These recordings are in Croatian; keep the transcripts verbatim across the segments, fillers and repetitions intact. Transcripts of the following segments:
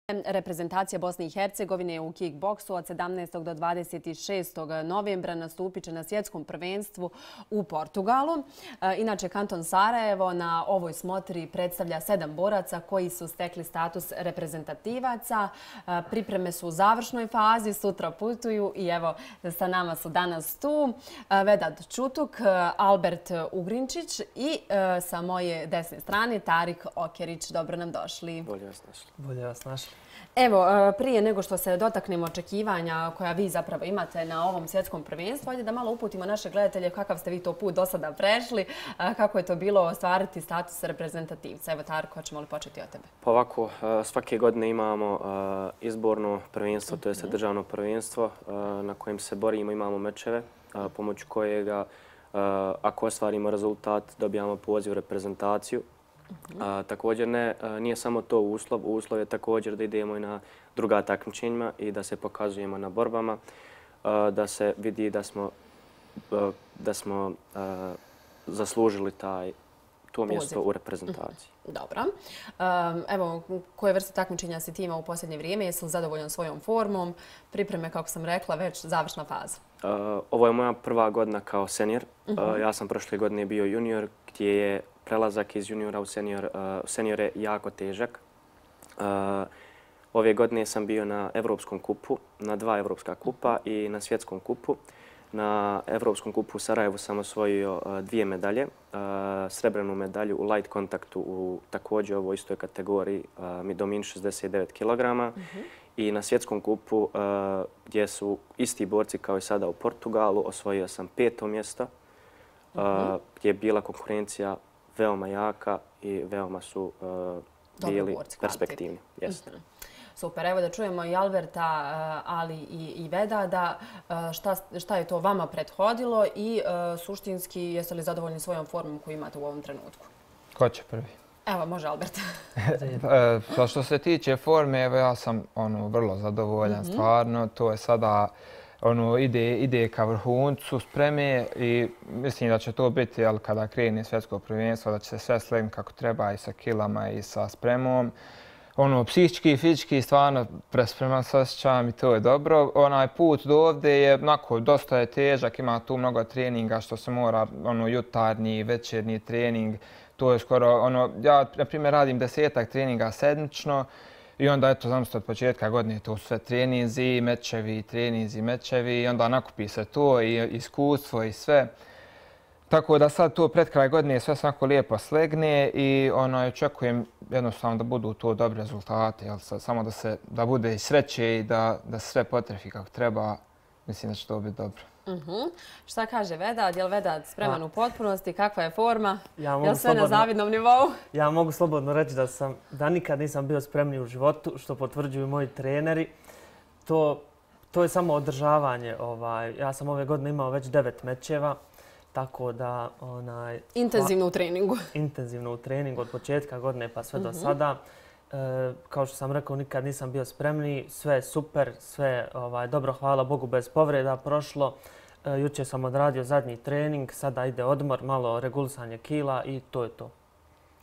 Reprezentacija Bosne i Hercegovine u kickboksu od sedamnaestog do dvadeset šestog novembra nastupit će na svjetskom prvenstvu u Portugalu. Inače, kanton Sarajevo na ovoj smotri predstavlja sedam boraca koji su stekli status reprezentativaca. Pripreme su u završnoj fazi, sutra putuju i evo sa nama su danas tu Vedat Čutuk, Albert Ugrinčić i sa moje desne strane Tarik Okerić. Dobro nam došli. Bolje vas našli. Bolje vas našli. Evo, prije nego što se dotaknemo očekivanja koja vi zapravo imate na ovom svjetskom prvenstvu, ajde da malo uputimo naše gledatelje kakav ste vi to put do sada prešli, kako je to bilo ostvariti status reprezentativca. Evo, Tarko, hoćemo li početi od tebe? Pa ovako, svake godine imamo izborno prvenstvo, to je državno prvenstvo na kojem se borimo, imamo mečeve, pomoću kojega ako ostvarimo rezultat dobijamo poziv u reprezentaciju. A, također ne, a, nije samo to uslov, uslov je također da idemo i na druga takmičenja i da se pokazujemo na borbama, a, da se vidi da smo, a, da smo a, zaslužili taj, to mjesto Poziv. u reprezentaciji. Dobro. Um, evo, koje vrste takmičenja si ti imao u posljednje vrijeme? Jesi li zadovoljan svojom formom? Pripreme, kako sam rekla, već završna faza. Uh, ovo je moja prva godina kao senior. Uh -huh. uh, ja sam prošle godine bio junior gdje je prelazak iz juniora u senior, uh, seniore jako težak. Uh, ove godine sam bio na Evropskom kupu, na dva Evropska kupa i na Svjetskom kupu. Na Evropskom kupu u Sarajevu sam osvojio uh, dvije medalje. Uh, srebrnu medalju u light kontaktu u također ovoj istoj kategoriji uh, Midomin šezdeset devet kilograma. Uh-huh. I na Svjetskom kupu uh, gdje su isti borci kao i sada u Portugalu osvojio sam peto mjesto uh, uh-huh. gdje je bila konkurencija veoma jaka i veoma su uh, bili perspektivni. Jeste. Uh-huh. Super, evo da čujemo i Alberta, ali i, i Veda, da šta, šta je to vama prethodilo i uh, suštinski jeste li zadovoljni svojom formom koju imate u ovom trenutku? Ko će prvi? Evo, može Albert. Pa što se tiče forme, evo ja sam ono, vrlo zadovoljan, mm-hmm. stvarno. To je sada ono, ide, ide ka vrhuncu spreme i mislim da će to biti, jel, kada krene svjetsko prvenstvo, da će se sve slegnuti kako treba i sa kilama i sa spremom. Ono, psihički i fizički stvarno prespreman se osjećam i to je dobro. Onaj put do ovdje je onako dosta je težak, ima tu mnogo treninga što se mora, ono, jutarnji, večernji trening. To je skoro, ono, ja na primjer radim desetak treninga sedmično i onda eto, znam od početka godine to su sve treninzi, mečevi, treninzi, mečevi i onda nakupi se to i iskustvo i sve. Tako da sad to pred kraj godine sve svako lijepo slegne i ono, očekujem jednostavno da budu to dobri rezultati, jel, samo da, se, da bude i sreće i da, da se sve potrefi kako treba. Mislim da će to biti dobro. Uh-huh. Šta kaže Vedat? Je li Vedat spreman A. u potpunosti? Kakva je forma? Ja je li sve slobodno, na zavidnom nivou? Ja mogu slobodno reći da, sam, da nikad nisam bio spremniji u životu, što potvrđuju moji treneri. To, to je samo održavanje. Ovaj, ja sam ove godine imao već devet mečeva. Tako da, onaj... Intenzivno u treningu. Intenzivno u treningu od početka godine pa sve uh-huh. do sada. E, kao što sam rekao, nikad nisam bio spremniji. Sve je super, sve ovaj, dobro, hvala Bogu, bez povreda prošlo. E, jučer sam odradio zadnji trening, sada ide odmor, malo regulisanje kila i to je to.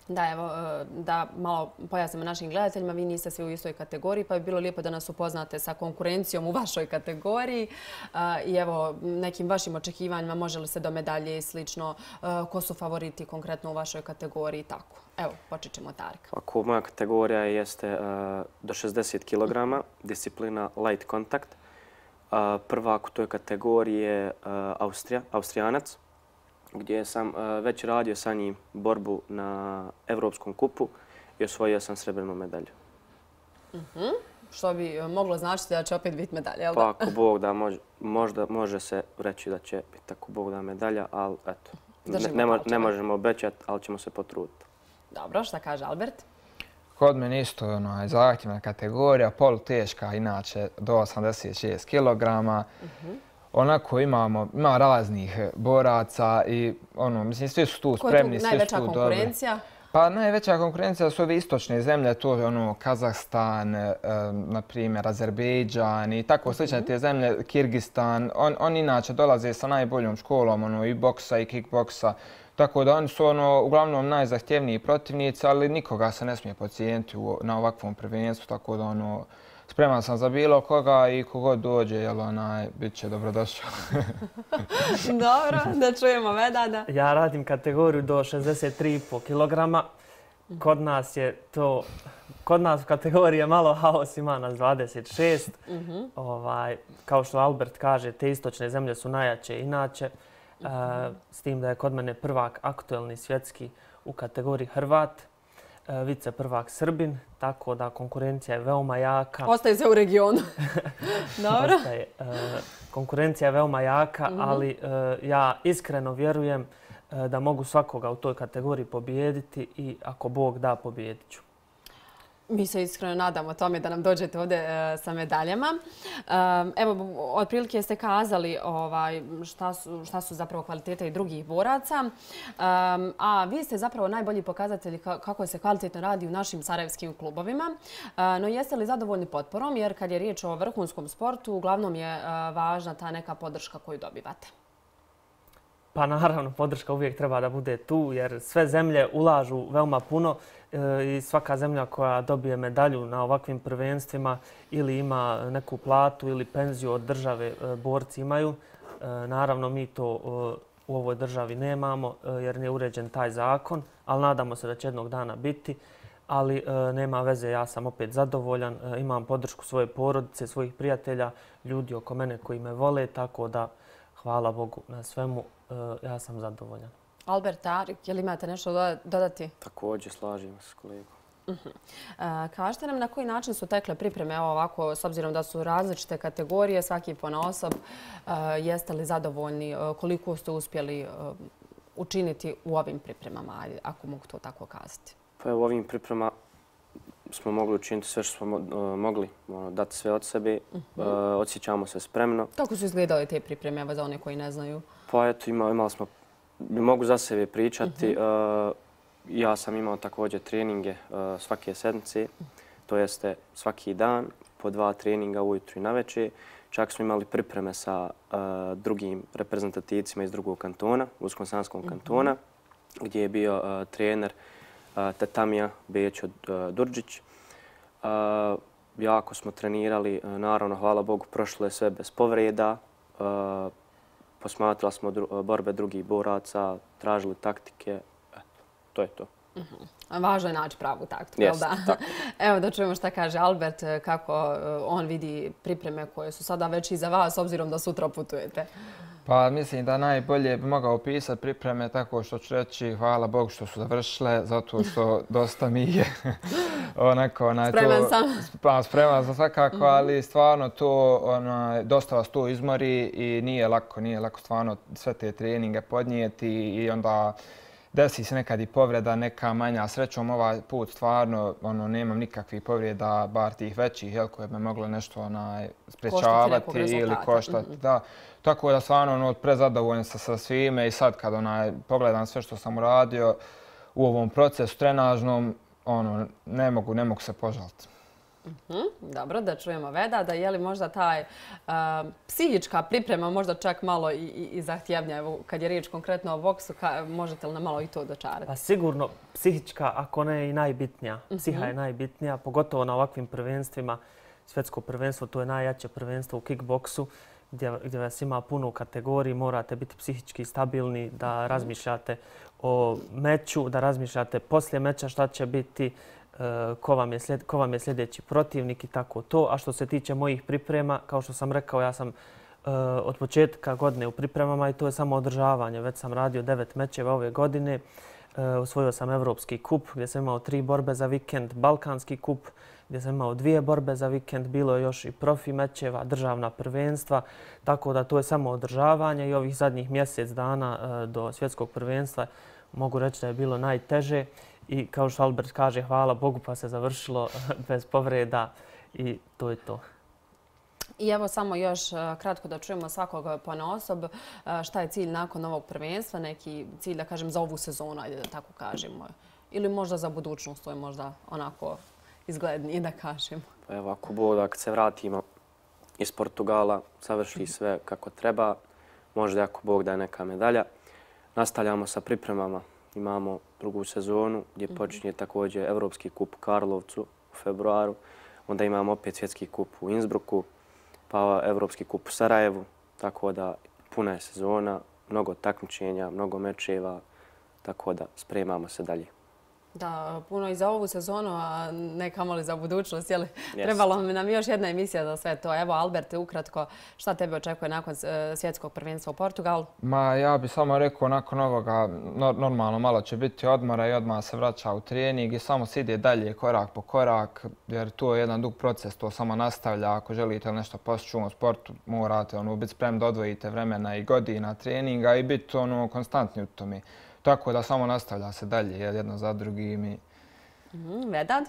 Da, evo, da malo pojasnimo našim gledateljima, vi niste svi u istoj kategoriji, pa bi bilo lijepo da nas upoznate sa konkurencijom u vašoj kategoriji i evo, nekim vašim očekivanjima, može li se do medalje i slično, ko su favoriti konkretno u vašoj kategoriji i tako. Evo, počet ćemo Tarika. Ako moja kategorija jeste do šezdeset kilograma, disciplina light kontakt. Prvak u toj kategoriji je Austrija, Austrijanac, gdje sam uh, već radio sa njim borbu na Evropskom kupu i osvojio sam srebrnu medalju. Uh-huh. Što bi moglo značiti da će opet biti medalja, jel da? Pa ako Bog da, mož, možda može se reći da će biti ako Bog da medalja, ali eto, ne, ne, mo, ne možemo obećati, ali ćemo se potruditi. Dobro, šta kaže Albert? Kod mene isto ono, zahtjevna kategorija, poluteška, inače do osamdeset šest kilograma. Uh-huh. Onako imamo, ima raznih boraca i ono, mislim, svi su tu spremni, svi su tu dobri. Koja je tu najveća konkurencija? Pa najveća konkurencija su ove istočne zemlje, to je ono Kazahstan, e, na primjer Azerbejdžan i tako slične te zemlje, Kirgistan. On, oni inače dolaze sa najboljom školom ono, i boksa i kickboksa. Tako da oni su ono, uglavnom najzahtjevniji protivnici, ali nikoga se ne smije podcijeniti na ovakvom prvenstvu, tako da ono, spreman sam za bilo koga i kogod dođe, jel onaj, bit će dobrodošao. Dobro, da čujemo Vedada. Ja radim kategoriju do šezdeset tri i po kilograma. Kod nas je to, kod nas u kategoriji je malo haos, ima nas dvadeset šest. Uh-huh. Ovaj, kao što Albert kaže, te istočne zemlje su najjače inače. Uh-huh. E, s tim da je kod mene prvak aktuelni svjetski u kategoriji Hrvat, e, vice prvak Srbin, tako da konkurencija je veoma jaka. Ostaje se u regionu. Dobro. Ostaje, e, konkurencija je veoma jaka, uh-huh. ali e, ja iskreno vjerujem da mogu svakoga u toj kategoriji pobijediti i ako Bog da, pobijedit ću. Mi se iskreno nadamo tome da nam dođete ovdje uh, sa medaljama. Um, evo, otprilike ste kazali ovaj, šta, su, šta su zapravo kvalitete i drugih boraca. Um, a vi ste zapravo najbolji pokazatelji kako se kvalitetno radi u našim sarajevskim klubovima. Uh, no jeste li zadovoljni potporom? Jer kad je riječ o vrhunskom sportu, uglavnom je uh, važna ta neka podrška koju dobivate. Pa naravno, podrška uvijek treba da bude tu jer sve zemlje ulažu veoma puno i svaka zemlja koja dobije medalju na ovakvim prvenstvima ili ima neku platu ili penziju od države borci imaju. Naravno, mi to u ovoj državi nemamo jer nije uređen taj zakon, ali nadamo se da će jednog dana biti. Ali nema veze, ja sam opet zadovoljan, imam podršku svoje porodice, svojih prijatelja, ljudi oko mene koji me vole, tako da hvala Bogu na svemu. Ja sam zadovoljan. Albert, Tarik, je li imate nešto dodati? Također, slažem se s kolegom. Uh-huh. uh, kažete nam na koji način su tekle pripreme ovako, s obzirom da su različite kategorije, svaki ponaosob. Uh, jeste li zadovoljni? Uh, koliko ste uspjeli uh, učiniti u ovim pripremama, ako mogu to tako kazati? Pa u ovim pripremama smo mogli učiniti sve što smo uh, mogli, ono, dati sve od sebe. Uh-huh. uh, osjećamo se spremno. Kako su izgledale te pripreme, evo za one koji ne znaju? Pa eto, ima, imali smo, mogu za sebe pričati. Uh-huh. uh, ja sam imao također treninge uh, svake sedmice, to jeste svaki dan, po dva treninga ujutru i navečer. Čak smo imali pripreme sa uh, drugim reprezentativcima iz drugog kantona, Usko-Sanskom uh-huh. kantona, gdje je bio uh, trener uh, Tatamija Bećo uh, Durđić. Uh, jako smo trenirali, uh, naravno, hvala Bogu, prošlo je sve bez povreda. Uh, posmatrali smo dru borbe drugih boraca, tražili taktike. Eto, to je to. Uh-huh. Važno je naći pravu taktiku, yes, jel da? Tako. Evo da čujemo šta kaže Albert, kako on vidi pripreme koje su sada već i za vas, obzirom da sutra putujete. Pa mislim da najbolje bi mogao opisati pripreme tako što ću reći hvala Bogu što su završile, zato što dosta mi je onako... Onaj, spreman to, sam. Pa, spreman sam svakako, mm-hmm. ali stvarno to onaj, dosta vas to izmori i nije lako, nije lako stvarno sve te treninge podnijeti i onda desi se nekad i povreda, neka manja. Srećom ovaj put stvarno ono, nemam nikakvih povreda, bar tih većih, jel, koje bi moglo nešto onaj, sprečavati ili koštati. Mm-hmm. Da. Tako da stvarno ono, prezadovoljan sam sa svime i sad kad onaj, pogledam sve što sam uradio u ovom procesu trenažnom, ono, ne mogu, ne mogu se požaliti. Uh-huh. Dobro, da čujemo Veda, da je li možda taj uh, psihička priprema možda čak malo i, i, i zahtjevnija. Evo, kad je riječ konkretno o boksu, ka, možete li nam malo i to dočarati? Pa sigurno psihička, ako ne i najbitnija. Psiha uh-huh. je najbitnija, pogotovo na ovakvim prvenstvima. Svjetsko prvenstvo, to je najjače prvenstvo u kickboksu, gdje, gdje vas ima puno kategoriji, morate biti psihički stabilni, da razmišljate o meču, da razmišljate poslije meča šta će biti, ko vam je, slijed, ko vam je sljedeći protivnik i tako to. A što se tiče mojih priprema, kao što sam rekao, ja sam uh, od početka godine u pripremama i to je samo održavanje. Već sam radio devet mečeva ove godine. Uh, osvojio sam Evropski kup gdje sam imao tri borbe za vikend, Balkanski kup gdje sam imao dvije borbe za vikend, bilo je još i profi mečeva, državna prvenstva, tako da to je samo održavanje i ovih zadnjih mjesec dana uh, do svjetskog prvenstva mogu reći da je bilo najteže. I kao što Albert kaže, hvala Bogu pa se završilo bez povreda i to je to. I evo samo još kratko da čujemo svakog ponaosob. Šta je cilj nakon ovog prvenstva? Neki cilj, da kažem, za ovu sezonu, ajde da tako kažemo. Ili možda za budućnost, to je možda onako izglednije da kažemo. Pa evo, ako Bog, ako se vratimo iz Portugala, završi sve kako treba, možda ako Bog da je neka medalja. nastavljamo sa pripremama. Imamo drugu sezonu gdje počinje također Evropski kup u Karlovcu u februaru. Onda imamo opet svjetski kup u Innsbrucku, pa Evropski kup u Sarajevu. Tako da puna je sezona, mnogo takmičenja, mnogo mečeva, tako da spremamo se dalje. Da, puno i za ovu sezonu, a ne kamoli za budućnost. Jeli? Trebalo nam još jedna emisija za sve to. Evo, Alberte, ukratko, šta tebe očekuje nakon svjetskog prvenstva u Portugalu? Ma, ja bih samo rekao, nakon ovoga, normalno malo će biti odmora i odmah se vraća u trening i samo se ide dalje korak po korak, jer to je jedan dug proces, to samo nastavlja. Ako želite nešto postići u sportu, morate ono, biti spremni da odvojite vremena i godina treninga i biti ono, konstantni u tome. Tako da samo nastavlja se dalje jedno za drugim. I... Mm, Vedad?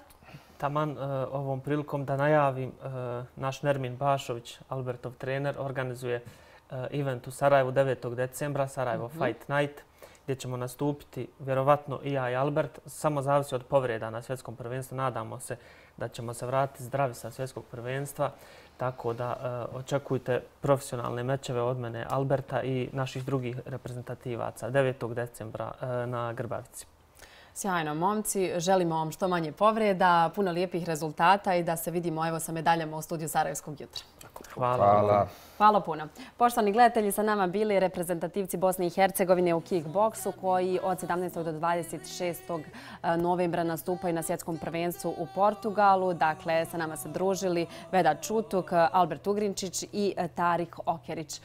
Taman uh, ovom prilikom da najavim, uh, naš Nermin Bašović, Albertov trener, organizuje uh, event u Sarajevu devetog decembra, Sarajevo mm-hmm. Fight Night, gdje ćemo nastupiti vjerovatno i ja i Albert. Samo zavisi od povreda na svjetskom prvenstvu. Nadamo se da ćemo se vratiti zdravi sa svjetskog prvenstva. Tako da uh, očekujte profesionalne mečeve od mene, Alberta i naših drugih reprezentativaca devetog decembra uh, na Grbavici. Sjajno, momci. Želimo vam što manje povreda, puno lijepih rezultata i da se vidimo evo sa medaljama u studiju Sarajevskog jutra. Hvala. Hvala. Hvala puno. Poštovani gledatelji, sa nama bili reprezentativci Bosne i Hercegovine u kickboksu koji od sedamnaestog do dvadeset šestog novembra nastupaju na svjetskom prvenstvu u Portugalu. Dakle, sa nama se družili Vedad Čutuk, Albert Ugrinčić i Tarik Okerić.